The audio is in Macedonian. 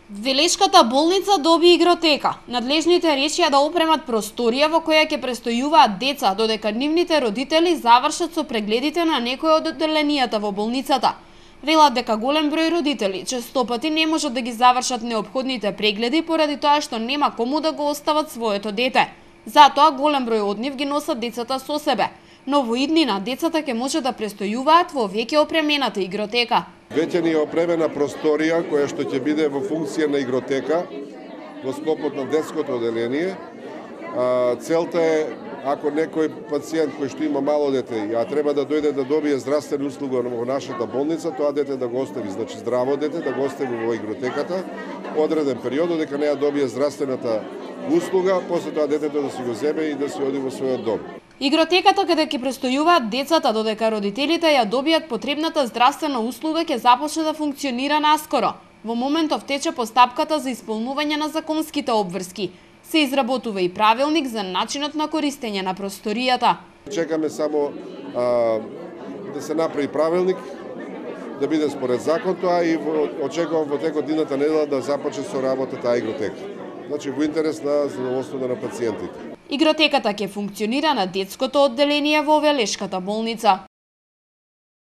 Велешката болница доби игротека. Надлежните решија да опремат просторија во која ќе престојуваат деца додека нивните родители завршат со прегледите на некои од одделенијата во болницата. Велат дека голем број родители честопати не можат да ги завршат неопходните прегледи поради тоа што нема кому да го остават своето дете. Затоа голем број од нив ги носат децата со себе. Но во иднина децата ќе може да престојуваат во веќе опремената игротека. Веќе ни е опремена просторија која што ќе биде во функција на игротека во склопот на детското одделение. Целта е, ако некој пациент кој што има мало дете, а треба да дојде да добие здравствена услуга во нашата болница, тоа дете да го остави, значи здраво дете да го остави во игротеката одреден период дека не ја добие здравствената услуга, после тоа детето да си го земе и да си оди во својот дом. Игротеката каде ќе престојуваат децата додека родителите ја добијат потребната здравствена услуга ќе започне да функционира наскоро. Во моментов тече постапката за исполнување на законските обврски. Се изработува и правилник за начинот на користење на просторијата. Чекаме само да се направи правилник, да биде според закон тоа и очекувам во текот идната недела да започне со работа таа игротека. Значи во интерес на задоволството на пациентите. Игротеката ќе функционира на детското одделение во Велешката болница.